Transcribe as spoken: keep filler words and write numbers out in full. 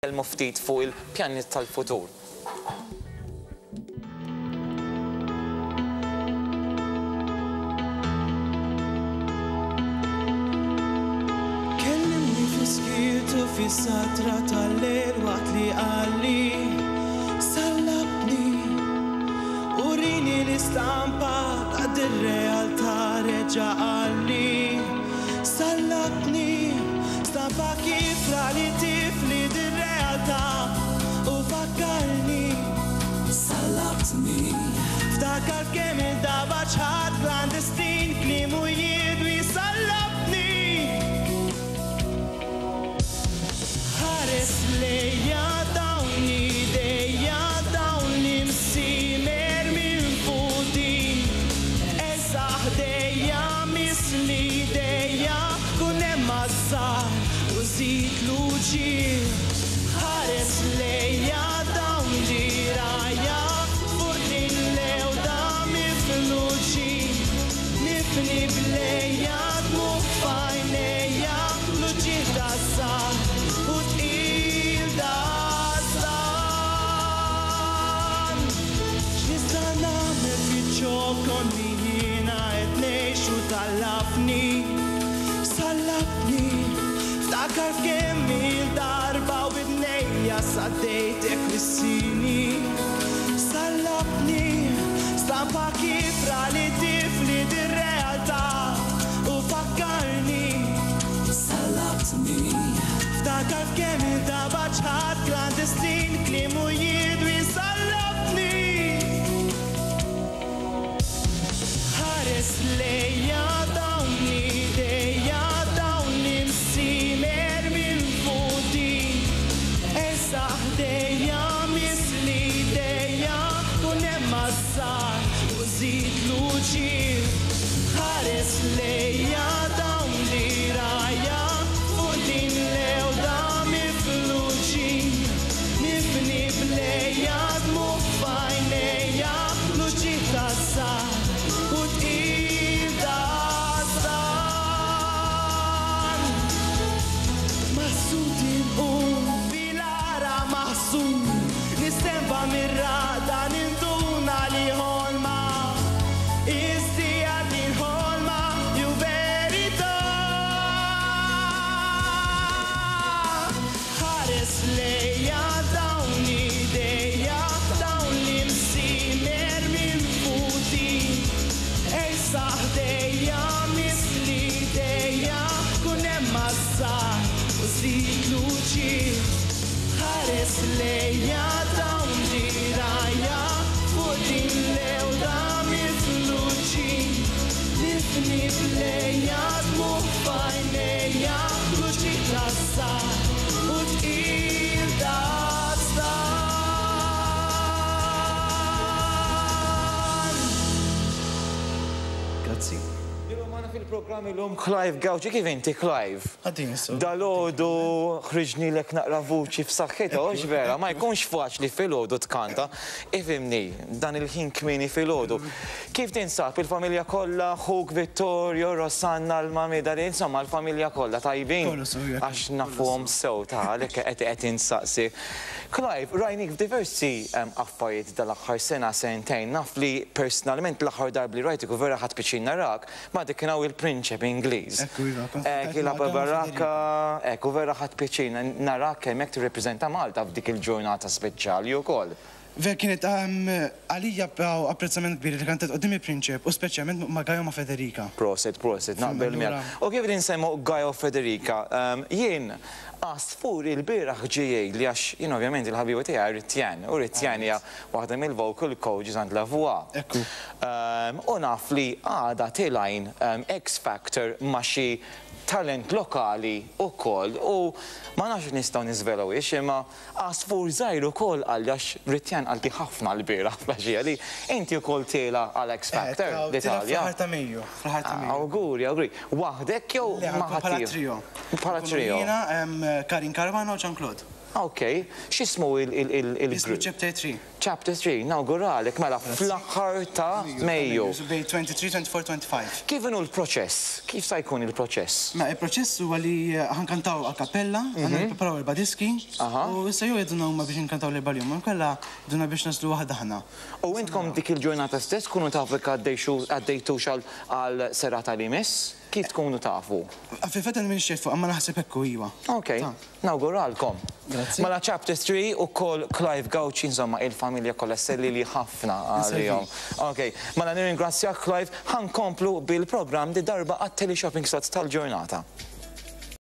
Nitkellmu ftit fuq il-pjanijiet tal-futur. Kellimni fi skitu fi satra tal-lejl waqt li qalli sallabni urini l-istampa ta' dir-realtà reġa' qalli sallabni stampa kifra li tifli dir-realtà u fakkarni sallabtni ftakar kemm il-darba ċħad klandestin kliemu jidwi sallabni. Ħares lejja dawn idejja dawn l-imsimer minn fuqi. Esa ħdejja misli idejja kun hemm għażżar u żid luċi. Ħares lejja dawn dirajja fuq din l-ewda mifluċi. Nifni blejja dmugħ f'għajnejja luċi taż-żgħar u tqil dażżan. X'nista' nagħmel fiċ-ċokon li jiena qed ngħix u tallafni, sallabni. Ftakar f'kemm il-darba u bidnejja saddejtek wissini. Sallabni, stampa kifra li tifli dir-realtà u fakkarni. Sallabtni. Ftakar f'kemm il-darba ċħad klandestin kliemu jidwi sallabni. Ħares lejja dawn idejja dawn l-imsimer minn fuqi. Esa ħdejja misli idejja kun hemm għażżar u żid luċi. Ħares lejja dawn dirajja fuq din l-ewda mifluċi. Nifni blejja dmugħ f'għajnejja luċi taż-żgħar u tqil dażżan. Maħsud inqum fil-ara maħsud nistenba mir-raqda ninduna li ħolma. Istija din ħolma jew verità. Ħares lejja dawn idejja dawn l-imsimer minn fuqi. Esa ħdejja misli idejja kun hemm għażżar u żid luċi. Ħares lejja dawn dirajja fuq din l-ewda mifluċi. Nifni blejja dmugħ f'għajnejja luċi taż-żgħar u tqil dażżan. Grazzi. Illum magħna fil-programm illum Clive Gauci, kif inti Clive? Għaddin, so. Dalgħodu ħriġnilek naqra vuċi f'saħħitha, hux vera, ma jkunx faċli filgħodu tkanta. Ifhimni, dan il-ħin kmieni filgħodu. Kif tinsab il-familja kollha, ħuk Vittorio, Rosanna, l-mami, dali, insomma l-familja kollha tajbin? Kollu sew, jekk. Għax nafuhom sew ta' għalhekk qed qed insaqsi. Clive, rajnik f'diversi, em, affarijiet dal-aħħar sena, sentejn, naf li personalment l-aħħar darba li rajtik u vera ħadt pjaċir narak, ma dik kien hawn il-Prinċep Ingliż. Ekku, iva, kont Ek, kuntent il ma' Gaia Baraka, ekku vera ħadt pjaċir narak kemm hekk tirrepreżenta Malta f'dik il-ġurnata speċjali wkoll. Ver kienet, em, għalija apprezzament kbir li kantet quddiem il-Prinċep u speċjalment ma' Gaia u ma' Federica. Prosit, prosit, naqbel Allura- miegħek. U kif insemmu Gaia u Federica, em, jien għasfur il-bieraħ ġie li għax jien ovvjament il-ħabiba tiegħi Ritjan, u Ritjan hija waħda mill-vocal coaches għand La Voix. Ekku. Em, u naf li għada tilajn, em, X Factor ma' xi talent lokali wkoll u ma nafx nistgħu niżvelaw ix imma għasfur żgħir ukoll qalli għax Ritjan qalti ħafna l-bieraħ fl-għaxija li inti wkoll tiela għal X Factor Eh, l-Italja. Fl-aħħar ta' Mejju, fl-aħħar ta' Mejju. Awguri, awguri. Waħdek jew Le, ma' ħankun bħala ħaddieħor? trio. Bħala Nkunu trio. Jiena, em, Karin Caruana u Jean-Claude. Ok, x'ismu Ismu il-grupp? Chapter three. Chapter three, nawguralek, mela fl-aħħar ta' Mejju. So bejn tlieta u għoxrin, tlieta u għoxrin, ħamsa u għoxrin. Kif inhu l-proċess? Kif sa jkun il-proċess? Ma il-proċess huwa li ħa nkantaw a cappella, għandna nippreparaw erba' diski, Aha. u issa jew jgħidulna huma biex nkantaw l-erba' l-jum, inkella jgħidulna biex nagħżlu waħda aħna. U intkom dik il-ġurnata stess kunu tafu jekk għaddejtux għal serata li jmiss? Kif tkunu tafu? Fil-fatt minn xefu, imma naħseb hekk iwa. Ok, Ta. nawguralkom. Grazzi. Mela Chapter three u kol Clive Gauci, insomma, il-familja kollha sellili ħafna għalihom. Ok, mela nirringrazzjak, Clive, ħa nkomplu bil-programm di darba għat-teleshopping slots tal-ġurnata.